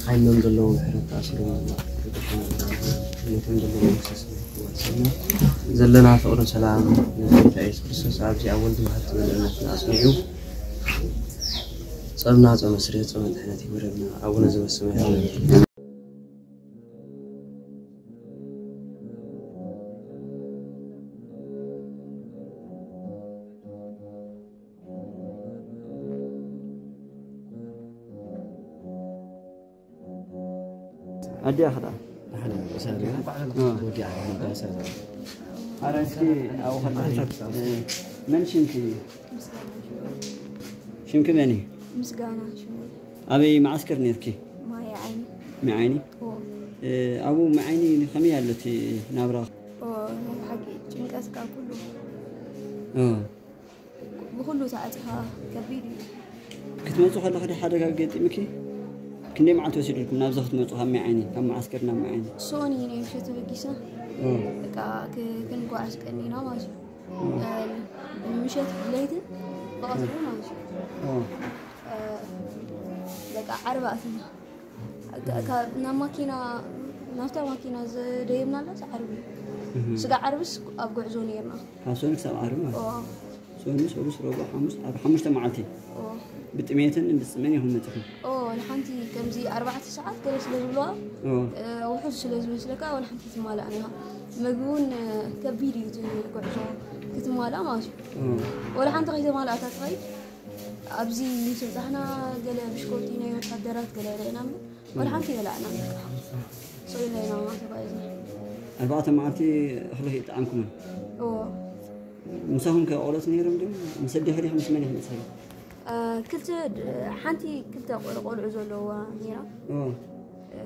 ሃይመም ዘለዎም ሕረት ተኣሲሮም ነቶም ዘለዎም ክሰስና ዘለና ፍቕርን ሰላም ንጎይታ የሱስ ክርስቶስ ኣብዚ ኣብ ወልድ መሃር ዝበለ እምነትና ኣጽኒዑ ጾምና ጾመ ስርየት ጾመ ድሕነት ይግበረልና። ኣቡነ ዘበሰማያት ኣዲኣ ክዳ ኣረ እስኪ ኣብኡ ከለኺ መን ሽምኪ? ሽምኪ መን እዩ? ምስጋና ሽሙ ኣበይ መዓስከር ነርኪ? ማይ ዓይኒ። ማይ ዓይኒ። ኣብኡ ማይ ዓይኒ ከመይ ኣሎ እቲ ናብራ? ሓቂ ጭንቀት ካብ ኩሉ እ፣ ብኹሉ ተዓፂኻ ከቢድ እዩ። ክትመፁ ከለኹ ዶ ሓደጋ ገጢምኪ? ክንደይ መዓልቲ ወሲድልኩም ናብዚ ክትመፁ ካብ ማይ ዓይኒ፣ ካብ መዓስከር ናብ ማይ ዓይኒ? ሶኒ ናይ ምሸት ተበጊስና እ፣ በቃ ክ- ክንጓዓዝ ቀኒና ማለት እዩ። እ፣ ምሸት ለይትን ብቐትሩ ማለት እዩ። እ፣ እ፣ በቃ ዓርቢ ኣትና ካ- ካብ ናብ ማኪና ናብታ ማኪና ዝደየብናላ ዓርቢ እዩ። እህ። ስጋ ዓርብስ ኣብ ጉዕዞ ነርና። ካብ ሰኑ ክሳብ ዓርቢ ማለት ኦ፣ ሰኑ፣ ሰሉስ፣ ረቡዕ፣ ሓሙስ፣ ዓርቢ ሓሙሽተ መዓልቲ ኦ፣ ብጥሜትን ብፅምን ኢኹም መፂኹም። ኦ፣ ንሓንቲ ከምዚ ኣርባዕተ ሰዓት ገለ ስለ ዝብልዋ ኦ፣ እ፣ ውሑድ ስለ ዝመስለካ ወላ ሓንቲ ትማላእ ነይራ። ምግቢ እውን እ፣ ከቢድ እዩ እቲ ጉዕዞ ክትማላእ ማለት እዩ። ኦ፣ ወላ ሓንቲ ከይተማላእታ ትኸይድ ኣብዚ ምስ በጻሕና ገለ ብሽኮቲ ናይ ወታደራት ገለ ርኢና እምበር ወላ ሓንቲ ኣይበላዕናን። በቃ ስቕ ኢልና ኢና ተጓዒዝና። ኣርባዕተ መዓልቲ እኽሊ ከይጠዓምኩምን? እዎ። ምሳኹም ከ ቆልዑት ነይሮም ድዮም? ምስ ኣዴኺ ዲኺ ምስ መን ኢኺ መጺኺ? እ፣ ክልተ ድ-፣ ሓንቲ ክልተ ቆል-፣ ቆልዑ ዘለውዋ ነይራ። እዎ። እ፣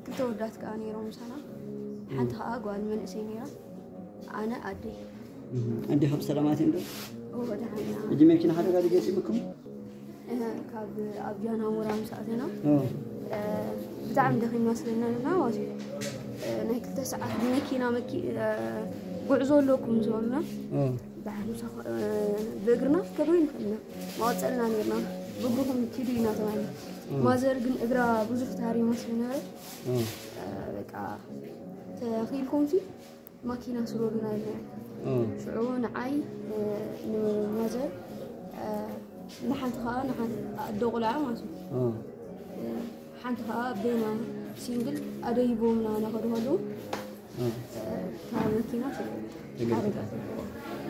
ክልተ ወዳት ከኣ ነይሮም ምሳና። ሓንቲ ከኣ ጓል መንእሰይ ነይራ። ኣነ ኣደይ። እህ፣ ኣዴኺ ብሰላማት እየን ዶ? እዎ፣ ደሓን እያ። ሕጂ መኪና ሓደጋ ድዩ ገጢሙኩም? እህ፣ ካብ ኣብ ጃናሞራ ምስ ኣተና፣ ኦ። እ፣ ብጣዕሚ ደኺምና ስለ ዝነበርና ማለት እዩ። እ፣ ናይ ክልተ ሰዓት ብመኪና መኪ-፣ እ፣ ጉዕዞ ኣለኩም ዝበሉና። ኦ። ብሓሙሳ ኸ-፣ እ፣ ብእግርና ከበይኑ ኸድና። መቐጸልና ነርና። ብእግርኹም ኪዱ ኢና ተባሂልና። ኦ። ማዘር ግን እግራ ብዙሕ ተሃሪማ ስለ ነበረት፣ ኦ። እ፣ በቃ ተኺልኩምሲ ማኪና ስበሩና ኢልና። ኦ። ሽዑ ንዓይ፣ እ፣ ንማዘር፣ እ፣ ንሓንቲ ኸኣ ንሓንቲ ኣደ ቁልዓ ማለት እዩ። ኦ። እ፣ ሓንቲ ኸኣ ቤና ሲንግል ኣደይቦምና እናኸዱ ከለዉ፣ ኦ። እ፣ እታ መኪና ተገልቢጣ። ተገልቢጣ። ሓደጋ ተረፈ።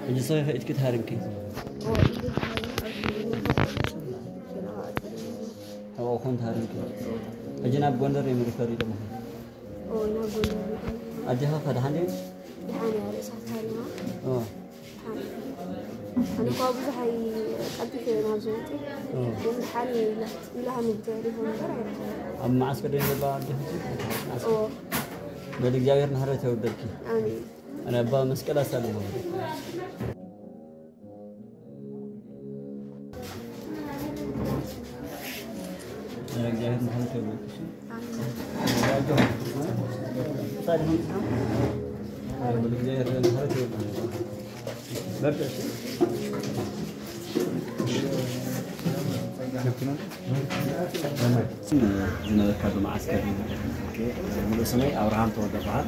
ሕጂ ሰኺ ኢድኪ ተሃሪምኪ? ኦ፣ ኢደይ ተሃሪመ፣ ኣብዚ ገና ኣጸደ። ኣብኡ ኮን ተሃሪምኪ? ሕጂ ናብ ጎንደር እዮም ሪፈር ኢሎምኺ? ኦ፣ ናብ ጎንደር ሪፈር። ኣዴኻ ከ ደሓን ድየን? ደሓን እያ፣ ርእሳ ተሃሪማ። ኦ። ደሓን እያ። ኣነ እኳ ብዙሕ ኣይ-፣ ቀልጢፈ እየ ናብዚ መፅእ። ኦ። ግን ደሓን እየ ኢላ፣ ኢላ ሃኒ ብቴሌፎን እምበር ኣይረኸበን። ኣብ መዓስከር ዶ ዘለዋ ኣዴኺ? ኦ። በል እግዚኣብሔር ምሕረት የውርደልኪ። ኣሜን። ኣነ ኣባ መስቀል ኣሳልሞ። እግዚኣብሔር ምሕረት ይወርድልሽ። ኣሜን። ዝነበርካሉ መዓስከር ሙሉእ ስመይ ኣብርሃም ተወልደ በሃል።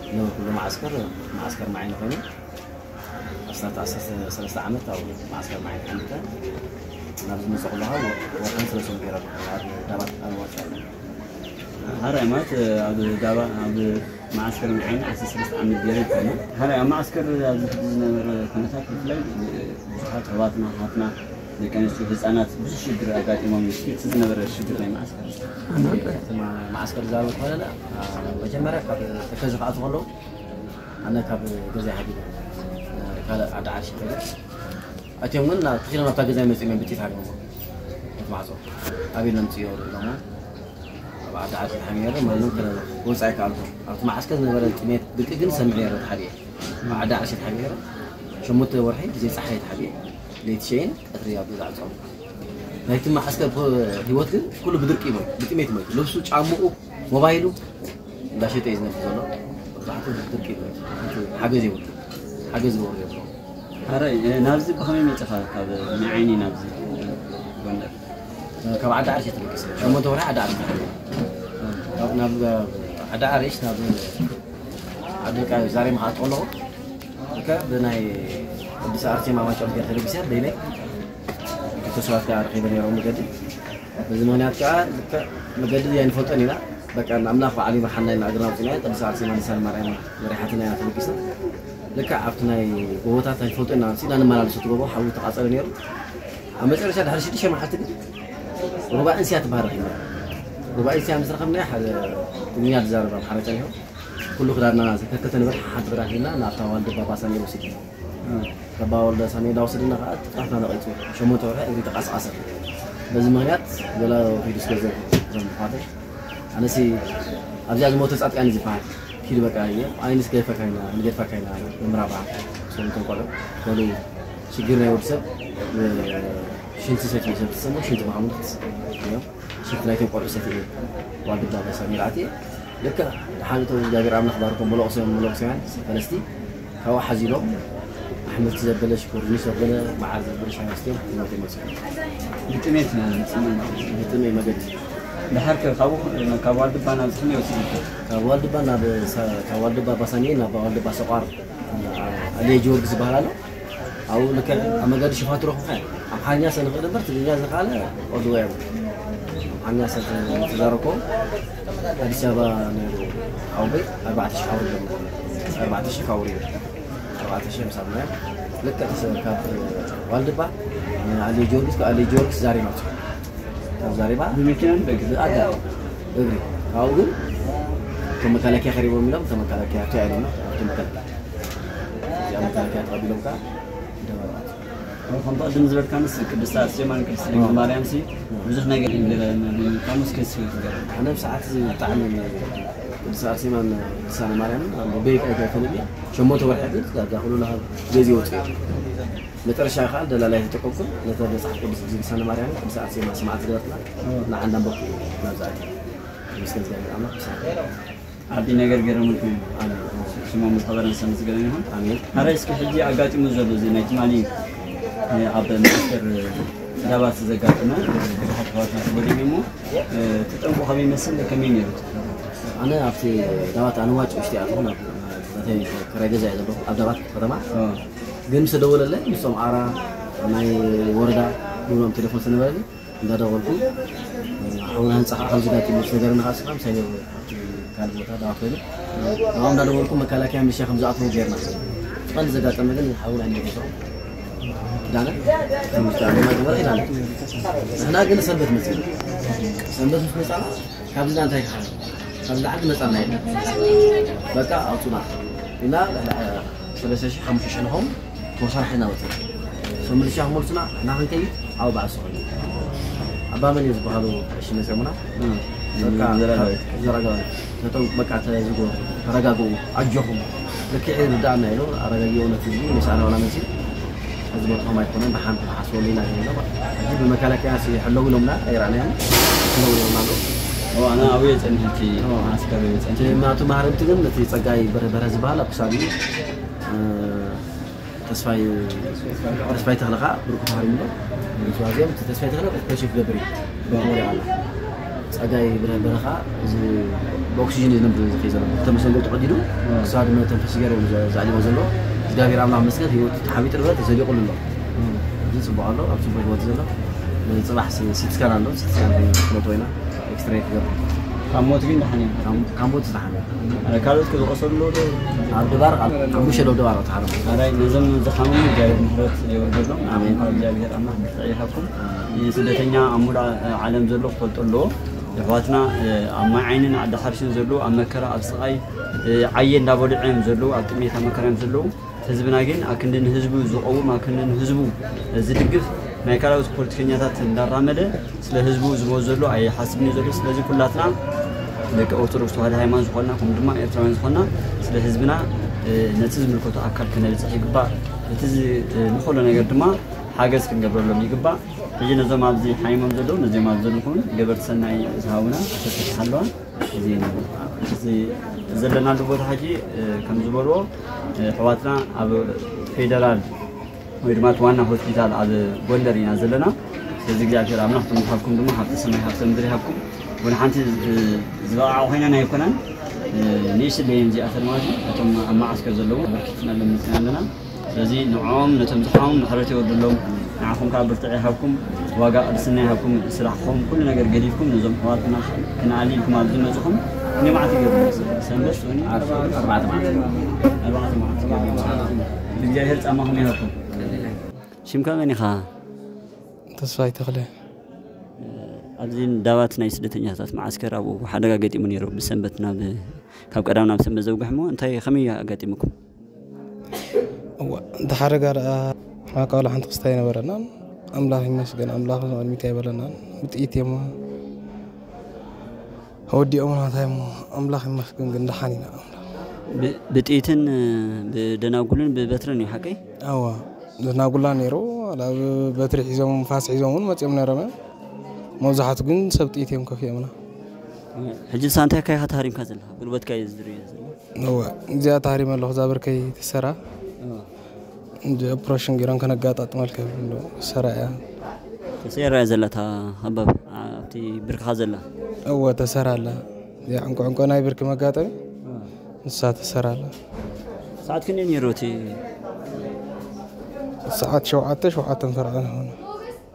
ዝነበርኩሉ መዓስከር፣ መዓስከር ማይ ኮይኑ ኣስታት ዓሰርተ ሰለስተ ዓመት ኣብ መዓስከር ማይ ሓሚተ። ናብዚ መፅእ ከለኹ ወርሕን ሰለስተ ገይረ ኣብ ዳባት ኣብ ወርጫ። ሓራይ ማለት ኣብ ዳባ ኣብ መዓስከር ማይ ዓይኒ ዓሰርተ ሰለስተ ዓመት ገይረ ይኮነ። ሓራይ ኣብ መዓስከር ኣብዚ ዝነበረ ኩነታት ብፍላይ ብዙሓት ኣሕዋትና ኣሓትና ደቂ ኣንስትዮ ህፃናት ብዙሕ ሽግር ኣጋጢሞም እዩ። እስኪ እቲ ዝነበረ ሽግር ናይ መዓስከር እስኪ። እቲ ማ-፣ መዓስከር ዝዛረብ ከለና፣ አ፣ መጀመርያ ካብ ተከዘ ክኣቱ ከለዉ ኣነ ካብ ገዛይ ሃዲመ፣ እ፣ ካልእ ዓዲ ዓርሺ ከይደ። ኣትዮም ግን ናብ፣ ተኺሎም ናብታ ገዛይ መጺኦም እዮም ብጥይት ሃዲሞም። እቲ ማዕጾ ኣበይ ነምጽዮ ኢሎሞ። ኣብ ዓዲ ዓርሺ ተሓቢረ፣ ማንም ክወጽእ ኣይከኣልኩን። ኣብቲ መዓስከር ዝነበረ ጥሜት፣ ድርቂ ግን ሰምዕ ነይረ ተሓቢረ። ኣብ ዓዲ ዓርሺ ተሓቢረ፣ ሸሞንተ ወርሒ ብዘይ ጸሓይ ተሓቢረ። ለይቲ ሸይን ቀትሪ ኣብ ገዛ ጸሙ። ናይቲ መዓስከር ፖ-፣ ህይወት ግን ኩሉ ብድርቂ እዩ ሞይቱ፣ ብጥሜት እዩ ሞይቱ። ልብሱ፣ ጫምኡ፣ ሞባይሉ እንዳሸጠ እዩ ዝነብር ዘሎ። መብዛሕትኡ ብድርቂ እዩ ሞይቱ። ሓንቲ ሓገዝ የብሉ። ሓገዝ ዝገብሩ የብሉ። ሓራይ፣ እ፣ ናብዚ ብኸመይ መጺኻ? ካብ ማይ ዓይኒ ናብዚ? ካብ ዓዲ ዓርሽ ተበጊሰ ሸሞንተ ወርሒ ዓዲ ዓርሽ ተበጊሰ። ናብ ዓዲ ዓርሽ ናብ ዓዲ ቃ ዛሬ መሓጥ ከለኹ ከ ብናይ ቅዱስ ኣርሴማ ማጨም ገር ተበጊሰ በይነይ ክልተ ሰባት ጋር ረኺበ ነይሮም መገዲ። በዚ ምኽንያት ከዓ ልክዕ መገዲ ኣይንፈልጦን ኢና። በቃ ኣምላኽ ባዕሉ ይምርሓና ኢልና እግርና ኣውፂና ቅዱስ ኣርሴማ ንሳን ማርያም መሪሓትና ኢና ተበጊስና። ልክዕ ኣብቲ ናይ ጎቦታት ኣይንፈልጦ ኢና ሲና ንመላለሰት ጎቦ ሓዊ ተቃፀለ ነይሩ። ኣብ መጨረሻ ድሕሪ ሽዱሽተ መዓልቲ ግን ሩባ እንስያ ትበሃል ረኺብና። ሩባ እንስያ ምስ ረኸብና ሓደ ትግርኛ ዝዛረብ ኣምሓራ ጸኒሑ ኩሉ ክዳንና ከከተ ንበር ሓንቲ ክዳን ሂልና ናብታ ዋልድባ ባሳ ነይሩ ወሲድና። ረባ ወልደ ሳሜዳ ወስድና ከዓ ጥፍራትና ነቒጹ ሸሞንተ ወርሒ እግሪ ተቃስቃሰ። በዚ ምኽንያት ገላ ከይዱ ስለ ዘሎ እዞም ኣሕዋተይ ኣነሲ ኣብዚኣ ዝሞተ ጻድቃን እዩ ዝበሃል። ኪድ በቃ እየ ኣይንስ ገድፈካ ኢና ንገድፈካ ኢና ምራባ ሰሉተን ቆልዑ በሉ ሽግር ናይ ወዲ ሰብ ሽንቲ ሰት እዩ ሰብ ትሰሙ ሽንቲ ማሙድ ክትስ እዮም ሽንቲ ናይቶም ቆልዑ ሰት እዩ ዋልድባ በሳ ሚራቲ ልክ ሓንቶ እግዚኣብሔር ኣምላኽ ባርኮም መለቕሶም መለቕሶያን ፈለስቲ ካብኡ ሓዚሎም ኣሕምልቲ ዘበለ ሽኮርኒ ዘበለ መዓር ዘበለ ሻይ ወስድዮም ሞት ይመፅኡ ግጥሜት ግጥሜ መገዲ ድሓር ከ ካብኡ ካብ ዋልድባ ናብ ዝኽመይ ወሲድካ ካብ ዋልድባ ናብ ካብ ዋልድባ ባሳኒ ናብ ዋልድባ ሰቋር ኣልየ ጊዮርጊስ ዝበሃል ኣሎ ኣብኡ ልክዕ ኣብ መገዲ ሽፋቱ ረኽብካ ኣምሓርኛ ሰንኽእል እምበር ትግርኛ ዝኸኣለ ኦድዋ እዮም ኣምሓርኛ ሰብ ተዛረብኮ ኣዲስ ኣበባ ነይሩ ሓውበይ ኣርባዕተ ሽሕ ኣውሪዶም ኣርባዕተ ሽሕ ካብ ኣውሪዶ ኣርባዕተ ሽሕ ምሳብ ማያ ልክዕ ካብ ዋልድባ ኣሊ ጊዮርጊስ ካብ ኣሊ ጊዮርጊስ ዛሬ መፅኡ ካብ ዛሬባ ብመኪና ንደግፍ ኣዳ እግሪ ካብኡ ግን እቶም መከላከያ ከሪቦም ኢሎም እቶም መከላከያ ኣብቲ ኣይሎና ኣብቲ መከላከያ እዚኣ መከላከያ ተቐቢሎም ከዓ ደበራት ከምቲ ቅድም ዝበልካ ምስ ቅድስቲ ኣርሴማን ቅድስቲ ድንግል ማርያም ሲ ብዙሕ ነገር ይብለና ካሙስ ከስብ ዝገርም ኣነ ብሰዓት እዚ ብጣዕሚ ቅድስቲ ኣርሴማን ቅድስቲ ማርያምን በይቅ ኣይፈልጥ እየ ሸሞንተ ወርሒ ግን ዳርጋ ኩሉ ለሃብ ገዚ ወፅኡ መጨረሻ ከዓ ደላላይ ተጠቀምኩም ነተ መፅሓፍ ቅዱስ ግዜ ቅድስቲ ማርያምን ቅድስቲ ኣርሴማ ስማዕት ዝገበርትና ንዓንዳንበኩ ናብዛ ኣትየ ተመስገን እግዚኣብሔር ኣምላኽ ብሰላም ዓቢ ነገር ገረሙልኩም እዩ። ኣሜን። ስሞም ዝኸበረን ሰምዝገነ ይኹን። ኣሜን። ኣረ እስኪ ሕጂ ኣጋጢሙ ዘሎ እዚ ናይ ትማሊ ኣብ ሚኒስትር ዳባት ዘጋጠመ ብዙሓት ኣሕዋትና ተጎዲኦም እሞ እቲ ጠንቁ ከመይ ይመስል ከመይ ነይሩ? ኣነ ኣብቲ ዳባት ኣነ ዋጭ ውሽጢ ኣትኹ ናብ ናተይ ክራይ ገዛ እየ ዘለኹ ኣብ ዳባት ከተማ ግን ምስ ተደወለለይ ምስቶም ኣራ ናይ ወረዳ ግብሮም ቴሌፎን ስለነበረኒ እንዳደወልኩ ሓውና ህንፃ ከዓ ከምዚ ጋር ትምህርት ነገር ንካስካ ምሳይ ካብቲ ካልእ ቦታ ዳዋ ኮይኑ ኣብኡ እንዳደወልኩ መከላከያ ሚሊሻ ከም ዝኣትዎ ጌርና ቀንዲ ዘጋጠመ ግን ሓውና እንደ ጌርና ዳነ ትምህርት ኣገማ ግበር ኢላለ ንሕና ግን ሰንበት መፅና ሰንበት ምስ መፃና ካብዚ እንታይ ክሓ ካብዚ ዓዲ መፃና የለ በቃ ኣውፁና እና ሰለስተ ሺህ ሓሙሽተ ሺህ ንኸውን ተወሳኺ ሓይልና ወፅና እቶም ሚሊሻ ክመልሱና ንሕና ክንከይድ ኣብኡ በዓል ዝኾነ ኣባ መን እዩ ዝበሃሉ ቀሺ መፅኦምና በቃ ዘረጋጋሉ ነቶም በቃ ተዝጎ ተረጋግኡ ኣጆኹም ልክዕ ይርዳእና ኢሉ ኣረጋጊኡ ነቲ ህዝቢ መሳና ዋላ መሲ እዚ ቦትኹም ኣይኮነን ብሓንቲ ክሓስበሉ ኢና ዝብሎ ሕጂ ብመከላከያ ሕለው ኢሎምና ኣይረኣናዮም ሕለው ኢሎምና ኣሎ ኣነ ኣብየ ፀኒሐ እቲ ማዓስከር ኣብየ ፀኒሐ እቲ ናቱ ማህረምቲ ግን እቲ ፀጋይ በርሀ ዝበሃል ኣብ ክሳዱ እዩ ተስፋይ ተስፋይ ተኽለ ከዓ ብርቁ ተሃሪሙ ኣሎ። ምክንያቱ ኣዚኦም እቲ ተስፋይ ተኽለ ኦፕሬሽን ክገብር እዩ። ብርቁ ወዲቑ ኣሎ። ፀጋይ ብርሀ በረኻ እዚ ብኦክሲጅን እዩ ዝነብር ዝኸይ ዘሎ። ክልተ መሰንገል ተቐዲዱ ክሳብ መተንፈሲ ገይሮም ዘዕሊሞ ዘሎ እግዚኣብሔር ኣምላኽ መስገን ህይወቱ ተሓቢጡ ንብረት ተዘሊቑሉ ኣሎ። እዚ ፅቡቕ ኣሎ ኣብ ፅቡቕ ህይወት ዘሎ ንፅባሕ ሲትስካን ኣሎ ሲትስካን ክነቶ ኢና ኤክስትሬ ክገብር ካብ ሞት ግን ደሓን እዩ ካብ ሞት ዝደሓነ ካልኦት ክዝቆሰሉ ኣለዉ ዶ ኣብ ድባር ሓሙሽተ ዶ ድባር ተሓረሙ ኣራይ ነዞም ዝሓመሙ እግዚኣብሔር ምሕረት የወርደሎም ኣሜን። ካብ እግዚኣብሔር ኣምላኽ ብርትዕ ይሃብኩም ስደተኛ ኣብ ሙሉእ ዓለም ዘሎ ክፈልጦ ኣለዎ የሕዋትና ኣብ ማይ ዓይንን ዓዲ ሓርሽን ዘለዉ ኣብ መከራ ኣብ ስቓይ ዓየ እንዳበልዑ እዮም ዘለዉ ኣብ ጥሜት ኣብ መከራ እዮም ዘለዉ ህዝብና ግን ኣክንዲ ንህዝቡ ዝቐውም ኣክንዲ ንህዝቡ ዝድግፍ ናይ ካልኦት ፖለቲከኛታት እንዳራመደ ስለ ህዝቡ ዝመ ዘሎ ኣይሓስብን እዩ ዘሎ ስለዚ ኩላትና ደቂ ኦርቶዶክስ ተዋህዶ ሃይማኖት ዝኾንና ከም ድማ ኤርትራውያን ዝኾንና ስለ ህዝብና ነቲ ዝምልከቶ ኣካል ክነብፅሕ ይግባእ እቲ ንኸሎ ነገር ድማ ሓገዝ ክንገብረሎም ይግባእ ሕጂ ነዞም ኣብዚ ሓይሞም ዘለዉ ነዚኦም ኣብ ዘለኹም ገበርቲ ሰናይ ዝሃቡና ተሰተሓለዋ ዘለናሉ ቦታ ሕጂ ከም ዝበልዎ ኣሕዋትና ኣብ ፌደራል ወይ ድማ ዋና ሆስፒታል ኣብ ጎንደር ኢና ዘለና እዚ እግዚኣብሔር ኣምላኽ ትምሃብኩም ድማ ሃብቲ ሰማይ ሃብቲ ምድሪ ይሃብኩም። ወላ ሓንቲ ዝበቕዓ ኮይና ናይ ኣይኮናን። ንእሽት ደየን እዚኣተን ማለት እዩ። እቶም ኣብ መዓስከር ዘለዉ በርኪትና ኣለምፅና ኣለና። ስለዚ ንዕኦም ነቶም ዝሓዎም ምሕረት የወርድሎም። ንዓኹም ከዓ ብርትዕ ይሃብኩም፣ ዋጋ ቅድስና ይሃብኩም። ስራሕኹም ኩሉ ነገር ገዲፍኩም ነዞም ኣሕዋትና ክንኣሊ ኢልኩም ኣብዚ መፅኹም ክንደይ መዓልቲ ይገብሩ? ሰንበት ሶኒ ኣርባዕተ መዓልቲ። ኣርባዕተ መዓልቲ ይገብሩ። እግዚኣብሔር ፃማኹም ይሃብኩም። ሽምካ መን ኢኻ? ተስፋይ ተኽለ። ኣብዚ ዳባት ናይ ስደተኛታት መዓስከር ኣብኡ ሓደጋ ገጢሙ ነይሩ። ብሰንበት ናብ ካብ ቀዳም ናብ ሰንበት ዘውግሕ እሞ እንታይ ከመይ ኣጋጢሙኩም? እዋ፣ እቲ ሓደጋ ደኣ ሓቃሉ ሓንቲ ክስታይ ነበረና። ኣምላኽ ይመስገን፣ ኣምላኽ ቅድሚት ኣይበለናን። ብጥይት እዮም ወዲኦምና፣ እንታይ እሞ ኣምላኽ ይመስገን ግን ደሓን ኢና። ኣምላኽ ብ- ብጥይትን ብደናጉልን ብበትርን እዩ ሓቀይ? ኣዋ፣ ደናጉላ ነይሩ። ኣብ በትሪ ሒዞም ፋስ ሒዞም እውን መፂኦም ነይሮም እዮም። መብዛሕቱ ግን ሰብ ጥይት እዮም ከፊኦምና። ሕጂ ንሳ እንታይ ካይኻ ተሃሪምካ ዘለኻ? ጉልበትካ እዩ ዝድርዮ ዘሎ። እወ፣ እዚኣ ተሃሪመ ኣለኹ፣ እዛ ብርከይ ትሰራ። እንደ ኦፕሬሽን ገይሮም ከነጋጣጥመልካ ይብሉ፣ ሰራ እያ። ተሰራ እያ ዘላ እታ ሃባብ ኣብቲ ብርክኻ ዘላ። እወ፣ ተሰራ ኣላ። እዚኣ ዕንቆ ዕንቆ ናይ ብርኪ መጋጠሚ፣ ንሳ ተሰራ ኣላ። ሰዓት ክንደይ ነይሩ እቲ? ሰዓት ሸውዓተ፣ ሸውዓተን ፈርቓን ይኸውን።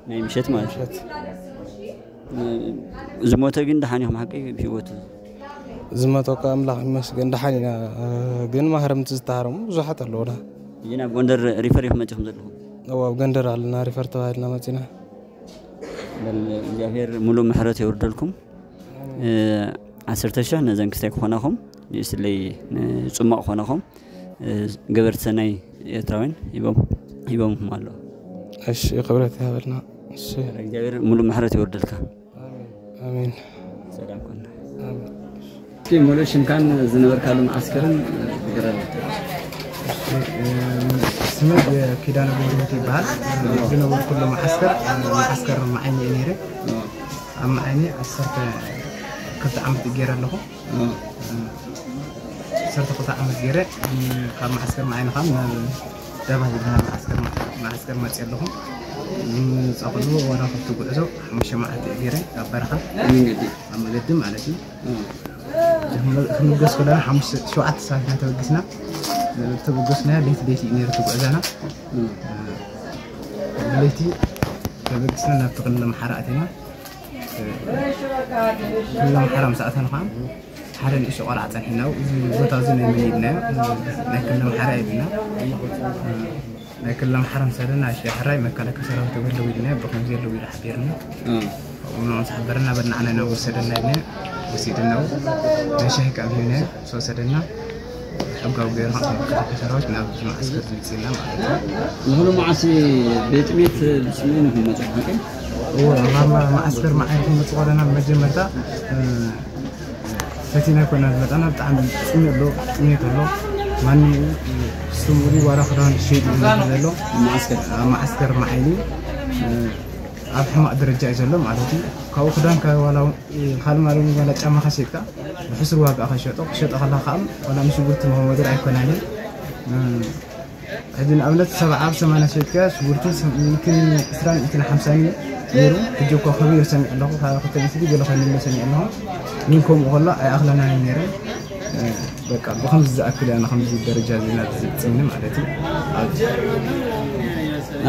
ናይ ምሸት ማለት እዩ። ምሸት። ዝሞተ ግን ደሓን ኢኹም ሓቀይ ብህይወት? ዝሞተ እኳ ኣምላኽ ይመስገን ደሓን ኢና፣ ግን ማህረምቲ ዝተሃረሙ ብዙሓት ኣለዉና። እዚ ናብ ጎንደር ሪፈር ኢኹም መፂኹም ዘለኹም? እዎ፣ ኣብ ጎንደር ኣለና፣ ሪፈር ተባሂልና መፂና። በል እግዚኣብሔር ሙሉእ ምሕረት የውርደልኩም። እ፣ ዓሰርተ ሺሕ ነዘን ክስታይ ክኾናኹም፣ ንእስለይ ንፅሟቕ ክኾናኹም፣ እ፣ ገበርቲ ሰናይ ኤርትራውያን ሂቦም፣ ሂቦምኹም ኣለዉ። እሺ፣ ክብረት ይሃበልና። እሺ። እግዚኣብሔር ሙሉእ ምሕረት የውርደልካ። ኣሜን። ሰላም ኮን። ኣሜን። እስኪ ሙሉእ ሽምካን ዝነበርካሉ መዓስከርን ንገረና። ስመይ ኪዳነ ገብረሂወት ይበሃል። ዝነበርኩሉ መዓስከር፣ መዓስከር መዓይኒ እዩ ነይረ። ኣብ መዓይኒ ዓሰርተ ክልተ ዓመት ገይረ ኣለኹ። ዓሰርተ ክልተ ዓመት ገይረ፣ ካብ መዓስከር መዓይኒ ካብ ናብ ዳባት ዝበሃል መዓስከር፣ መዓስከር መፅየ ኣለኹ። ዝመፃኹሉ ዋላ ካብቲ ጉዕዞ ሓሙሽተ መዓልቲ እየ ገይረ ኣብ በረኻ። ኣብ መገዲ? ኣብ መገዲ ማለት እዩ። እ። ክንበ-፣ ክንብገስ ከለና ሓሙሽተ፣ ሸውዓተ ሰባት ኢና ተበጊስና። ተበገስና ለይቲ ለይቲ እዩ ነይሩ እቲ ጉዕዞና። እ። ለይቲ ተበጊስና ናብቲ ክልል ኣምሓራ ኣቲና። ክልል ኣምሓራ ምስ ኣተና ኸዓ ሓደ ንእሽቶ ቆልዓ ጸኒሕና፣ እዚ ቦታ እዚ ናይ መን ኢልናዮ? ናይ ክልል ኣምሓራ ኢልና። ናይ ክልል ኣምሓራ ምስ ኣተና፣ እሺ፣ ሕራይ መከላከያ ሰራዊት ኣለዉ ኢልናዮ፣ ብኸምዚ ኣለዉ ኢሉ ሓቢርና። እ። ኣብኡ ምስ ሓበረና፣ በል ንዓና ኢና ወሰደና ኢልና፣ ወሲድና፣ ናይ ሻሂ ካብ ሂብናዮ፣ ምስ ወሰደና፣ ሕጋዊ ገይሩ ከም መከላከያ ሰራዊት ናብ መዓስከር ዝምፅእና ማለት እዩ። ዝኾነ መዓልቲ ቤት ቤት ብፅሜን ይኹን መፅእ ሓቂ? እዎ፣ ኣብ መዓስከር መዓልቲ መፅእ ከለና መጀመርታ፣ እ፣ ፈቲና ኮና ዝመጣና ብጣዕሚ ፅሜት ኣሎ፣ ጥሜት ኣሎ። ማንም ስሙሪ ዋላ ክዳን ሸይጥ ዘሎ መዓስከር? ኣብ መዓስከር መዓይኒ፣ እ፣ ኣብ ሕማቕ ደረጃ እዩ ዘሎ ማለት እዩ። ካብኡ ክዳንካ ዋላ እውን፣ እ፣ ካልእ ማለት እውን ዋላ ጫማኻ ሸይጥካ ብሕሱር ዋጋ ከሸጦ፣ ክሸጦ ከለኻ ከዓ ዋላ ምስ ሽጉርቲ መኸመድር ኣይኮናን እዩ። እ፣ ሕጂ ንኣብነት ሰብዓ ኣብ ሰማንያ ሸይጥካ ሽጉርቲ ሚእትን ዕስራን ሚእትን ሓምሳን እዩ ነይሩ። ሕጂ እኮ ከቢሩ ሰሚዐ ኣለኹ፣ ካብ ክልተ ሚእቲ ገለ ኮይኑ ሰሚዐ ኣለኹ። ግን ከምኡ ከሎ ኣይኣኽለናን እዩ ነይሩ። እ፣ በቃ ብኸምዚ ዝኣክል እያ ንኸምዚ ደረጃ ዜና ዝብፅኒ ማለት እዩ። ኣብ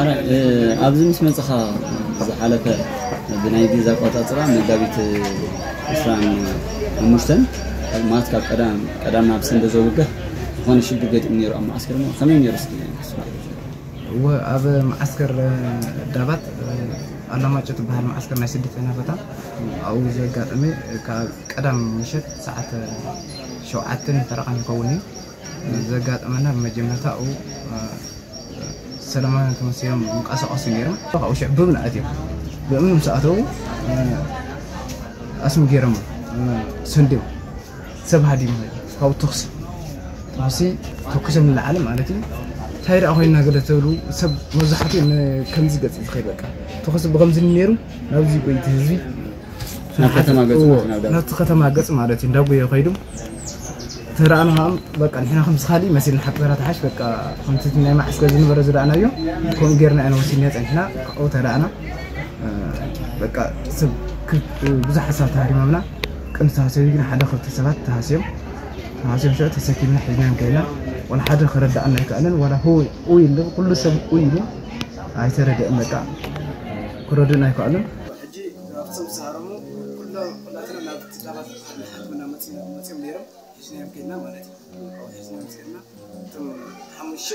ኣረ፣ እ፣ ኣብዚ ምስ መፅኻ ዝሓለፈ ብናይ ግዜ ኣቆፃፅራ መጋቢት ዕስራን ሓሙሽተን ማለት ካብ ቀዳም፣ ቀዳም ናብ ሰንበት ዘውግሕ ዝኾነ ሽግር ገጢሙ ነይሩ ኣብ መዓስከር እሞ ከመይ ነይሩ እስኪ ንስማዕ። እወ፣ ኣብ መዓስከር ዳባት ኣላማጮ ትበሃል መዓስከር ናይ ስደተኛ ቦታ ኣብኡ ዘጋጠመ ካብ ቀዳም ምሸት ሰዓት ሸውዓተን ፈረቓን ይኸውን እዩ። ዘጋጠመና ብመጀመርታ ኣብኡ ሰለማውያን ተመሲሎም ይንቀሳቐሱ ነይሮም። ካብኡ ሽዕ ብም ንኣትዮም። ብእምኒ ምስ ኣተዉ ኣስሚ ገይሮም ሰንድዮም። ሰብ ሃዲሙ ካብኡ ተኹሲ፣ ተኹሲ ተኩሶም ንላዕሊ ማለት እዩ። እንታይ ደኣ ኮይንና ገለ ተብሉ ሰብ መብዛሕትኡ ን-፣ ከምዚ ገጽ እዩ ዝኸይድ በቃ። ተኹሲ ብኸምዚ ነይሩ ናብዚ ጎይቲ ህዝቢ ናብ ከተማ ገጽ እዎ፣ ማለት ናብ ዳባት። ናብቲ ከተማ ገጽ ማለት እዩ። እንዳጎየ ከይዱ ተረኣና ኸዓ በቃ ንሕና ከምዚ ካሊእ መሲልና ሓቂ ተረታሓሽ በቃ ከምቲ ናይ መዓስከር ዝነበረ ዝረኣናዮ ከምኡ ጌርና ኢና ወሲድና ጸኒሕና ካብኡ ተረኣና። እ፣ በቃ ሰብ ክብ ብዙሓት ሰባት ተሃሪሞምና። ቅድሚ ተሃስዮ ግን ሓደ ክልተ ሰባት ተሃስዮም ተሃስዮም ሽዑ ተሰኪምና ሒዝናዮም ከይና። ዋላ ሓደ ክረዳኣና ኣይከኣለን። ዋላ ሆይ ኡይ ኢሉ ኩሉ ሰብ ኡይ ኢሉ ኣይተረድአን። በቃ ክረድኡና ኣይከኣሉን። ሕጂ ኣብቶም ዝተሃረሙ ኩሎም ኩላትና ናብ ትዳባት ሓክምና መፂኦም ነይሮም። ሒዝናዮም ከይድና ማለት እዩ። ካብኡ ሒዝናዮም ከይድና እቶም ሓሙሽተ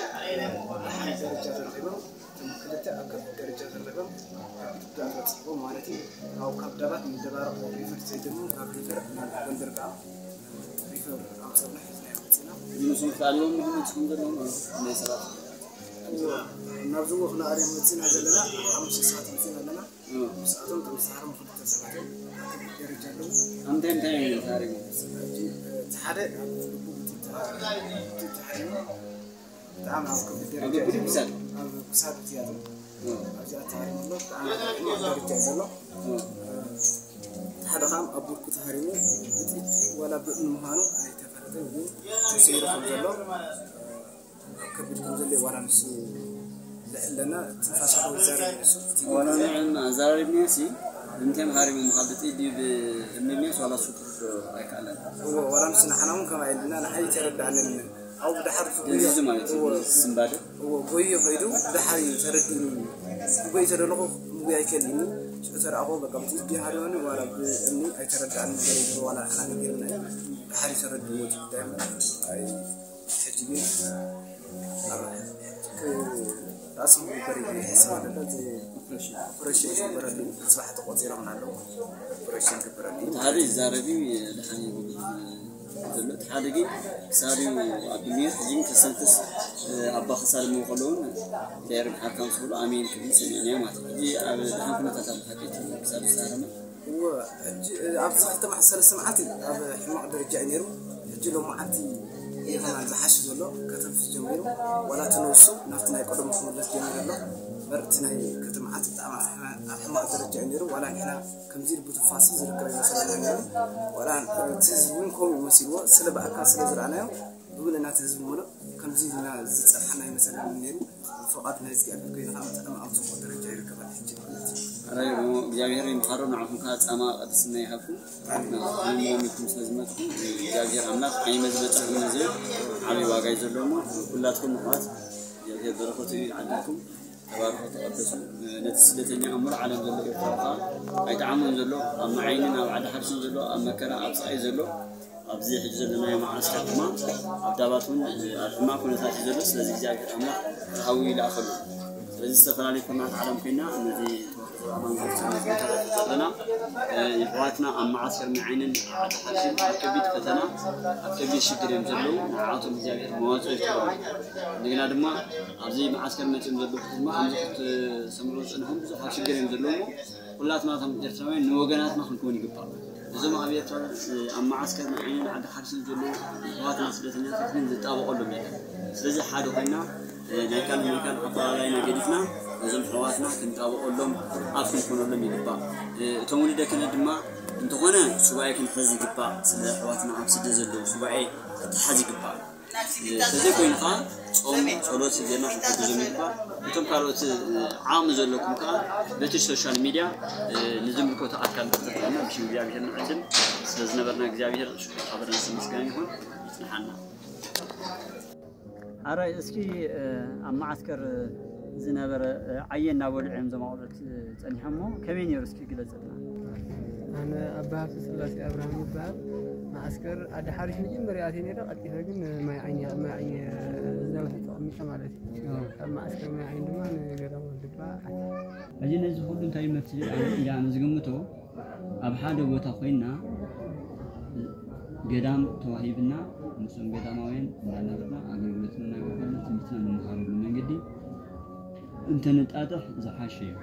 ደሓን ደረጃ ተረኺቦም፣ እቶም ክልተ ኣብ ከቢድ ደረጃ ተረኺቦም፣ ከቢድ ጉድኣት በፂሕዎም ማለት እዩ። ካብኡ ካብ ዳባት ንደባርቕ ሪፈር ተሰዲዶም፣ ካብ ሪፈር ናብ ጎንደር ከዓ ሪፈር ኣምፀና ሒዝናዮም መፂና። እዚ ምስኦም ተጣሊቦም ምግቢ መፅኹም ዘለዎም ናይ ሰባት ናብዚ ወ ክነኣርዮም መፂና ዘለና ሓሙሽተ ሰባት መፂና ኣለና። ምስኣቶም ተመሳሳሮም ክልተ ሰባት እዮም። ኣብ ከቢድ ደረጃ ኣለዉ። እንታይ እንታይ እዮም ተሃሪሞም? እቲ ሓደ ኣብ ልቡ እቲ ተሃሪሙ ብጣዕሚ ኣብ ከቢድ ደረጃ እዩ ዘሎ። ኣብ ክሳዱ እቲ ያለው ኣብዚኣ ተሃሪሙ ኣሎ። ብጣዕሚ ኣብ ሕማቕ ደረጃ እዩ ዘሎ። እቲ ሓደ ከዓ ኣብ ብርኩ ተሃሪሙ ብጥይት ዋላ ብእምኒ ምዃኑ ኣይተፈለጠን፣ ግን ተሰይሩ ከም ዘሎ ከቢድ ከም ዘሎ ዋላ ምስ ዝሕለና ትንፋስ ይዛረብ እዩ ንሱ። እቲ ዋላ ንዕና ኣዛራሪብናዮ ሲ እንታይ መሃሪሞም ካብ ብጥይት ድዩ ብእምኒ ድዩ ዋላ እሱ ክርድኦ ኣይከኣለን። እዎ፣ ዋላ ምስ ንዓና እውን ከምኣ ኢልና ንዓይ ተረዳእንን። ኣብኡ ብድሓር ደንዚዙ ማለት እዩ። እዎ። ስምባደ። እዎ፣ ጎዩ ከይዱ ብድሓር እዩ ተረዲኡኒ። ክጎይ ተደለኹ ምጉይ ኣይከልእኒ። ሽዑ ተረኣኹ በቃ ብጥይት ድዩ ሃሪሙኒ ዋላ ብእምኒ ኣይተረዳእንን ገለ ይብሎ ዋላ ንዓና ነጊርና እዩ። ብድሓር እዩ ተረዲእዎ እቲ ጉዳይ እምበር ኣይ ሕጂ ግን ኣብ ራእሲ ምግበር እዩ ዝሕሰብ ኣለና። እዚ ኦፕሬሽን ኦፕሬሽን ይግበረሉ። ጽባሕ ተቆጺሮም ኣለዉ። ኦፕሬሽን ይግበረሉ። እቲ ሓደ ይዛረብ እዩ፣ ድሓን ይብል ዘሎ። እቲ ሓደ ግን ክሳዱ ኣብ ድንየት ሕጂ ግን ከሰንክስ ኣባ ክሳድ መውቀሉ እውን ተየርም ሓካም ስብሉ ኣሜን ክብል ሰሚዕናዮ ማለት እዩ። ሕጂ ኣብ ድሓን ኩነታት ኣብ ሓቂ እቲ ክሳዱ ዝዛረመ እወ፣ ሕጂ፣ እ፣ ኣብዚ ክልተ መዓልቲ፣ ሰለስተ መዓልቲ ኣብ ሕማቕ ደረጃ እዩ ነይሩ። ሕጂ ሎማዓንቲ እዩ ከማን ዝሓሽ ዘሎ፣ ከተንፍስ ጀሚሩ። ዋላ እቲ ነብሱ ናብቲ ናይ ቀደሙ ክምለስ ጀሚሩ ኣሎ። እምበር እቲ ናይ ከተማዓት ብጣዕሚ ኣብ ሕማ-፣ ኣብ ሕማቕ ደረጃ እዩ ነይሩ። ዋላ ንሕና ከምዚ ኢሉ ብትንፋሱ ዝርከብ ይመስለና ነይሩ። ዋላ እቲ ህዝቢ እውን ከምኡ እዩ መሲልዎ። ስለ ብኣካል ስለ ዝረኣናዮ፣ ብሙሉእ ናቲ ህዝቢ ሙሉእ ከምዚ ኢልና ዝጸንሓና ኣይመሰለንን ነይሩ። ፍቓድ ናይ እግዚኣብሔር ኮይኑ ከዓ ብጣዕሚ ኣብ ጽቡቕ ደረጃ ይርከብ ኣሎ ሕጂ ማለት እዩ። ኣረ እሞ እግዚኣብሔር ይምሓሮ፣ ንዓኹም ከዓ ጻማ ቅድስና ይሃብኩም። ንዓኹም ሞሚኩም ስለ ዝመጽኹም እግዚኣብሔር ኣምላኽ ዓይመ ዝበጻሕኩም እዚ ዓብዪ ዋጋ እዩ ዘለዎ እሞ ኩላትኩም ምሕዋት እግዚኣብሔር በረኸቱ ይዓድልኩም። ተባረኹ፣ ተቐደሱ። ነቲ ስደተኛ ኣብ ሙሉእ ዓለም ዘሎ ኤርትራዊ ከዓ ኣይጠዓሞን ዘሎ፣ ኣብ መዓይንን ኣብ ዓዲ ሓርሽን ዘሎ፣ ኣብ መከራ ኣብ ስቓይ ዘሎ፣ ኣብዚ ሕጂ ዘለናዮ መዓስከር ድማ ኣብ ዳባት እውን ኣብ ሕማቕ ኩነታት እዩ ዘሎ። ስለዚ እግዚኣብሔር ኣምላኽ ርሃዊ ይልኣኸሉ። ስለዚ ዝተፈላለዩ ኩርናት ዓለም ኮይና ነዚ ተዋህዶ ኣማን ክርስቲያን ነዚ ቦታ ዘለና፣ እ፣ የሕዋትና ኣብ መዓስከር መዓይንን ኣብ ዓዲ ሓርሽን ኣብ ከቢድ ፈተና ኣብ ከቢድ ሽግር እዮም ዘለዉ። ንዓቶም እግዚኣብሔር መዋፅኦ ይፍጠሮም። እንደገና ድማ ኣብዚ መዓስከር መፅኦም ዘለዉ ድማ ከምዚ ክትሰምዑ ዝፅንሑም ብዙሕ ኣብ ሽግር እዮም ዘለዉ። ኩላትና ከም ኤርትራውያን ንወገናትና ክንከውን ይግባእ። እዞም ኣብ ኤርትራ፣ ኣብ መዓስከር ንዓይንን ዓዲ ሓርሽን ዘለዉ ኣሕዋትና ስደተኛታት ግን ዝጣበቐሎም የለን። ስለዚ ሓደ ኮይና፣ ናይ ካልእ ናይ ካልእ ኣፈላላይና ገዲፍና ነዞም ኣሕዋትና ክንጣበቐሎም ኣብ ክንኮነሎም ይግባእ። እቶም ውሉደ ክህነት ድማ እንተኾነ ሱባኤ ክንሕዝ ይግባእ። ስለ ኣሕዋትና ኣብ ስደት ዘለዉ ሱባኤ ክትሓዝ ይግባእ። እንተዘይኮይኑ ከዓ ጾም፣ ጸሎት ጌርና ክንሕግዞም ይግባእ። እቶም ካልኦት ዓቕሚ ዘለኩም ከዓ በቲ ሶሻል ሚድያ ንዝምልከቶ ኣካል ተጠቒምና ብሽም እግዚኣብሔር ንዕድም። ስለ ዝነበርና እግዚኣብሔር ሽኩር ሓበረን ስም ምስጋና ይኹን። ይጽንሓና። ኣረ እስኪ ኣብ መዓስከር ዝነበረ ዓየ እናበልዑ እዮም እዞም ኣቑልዑት ጸኒሖሞ ከመይ ነይሩ እስኪ ግለጸልና። ኣነ ኣባ ሃብተ ስላሴ ኣብርሃም ይበሃል። መዓስከር ዓዲ ሓሪሽ መጀመርያ ኣትየ ነይረ፣ ቀልጢፈ ግን ማይ ዓይኒ፣ ኣብ ማይ ዓይኒ ዝናብ ተቐሚጠ ማለት እዩ። ካብ መዓስከር ማይ ዓይኒ ድማ ንገዳም ወልድባ ኣትየ። ሕጂ ነዚ ኩሉ እንታይ ይመስል ኢለ ኣነ ዝግምቶ፣ ኣብ ሓደ ቦታ ኮይና ገዳም ተዋሂብና ምስኦም ገዳማውያን እናነበርና ኣገልግሎትና እናገበርና ትምህርትና እንመሃረሉ መንገዲ እንተነጣጥሕ ዝሓሸ እዩ።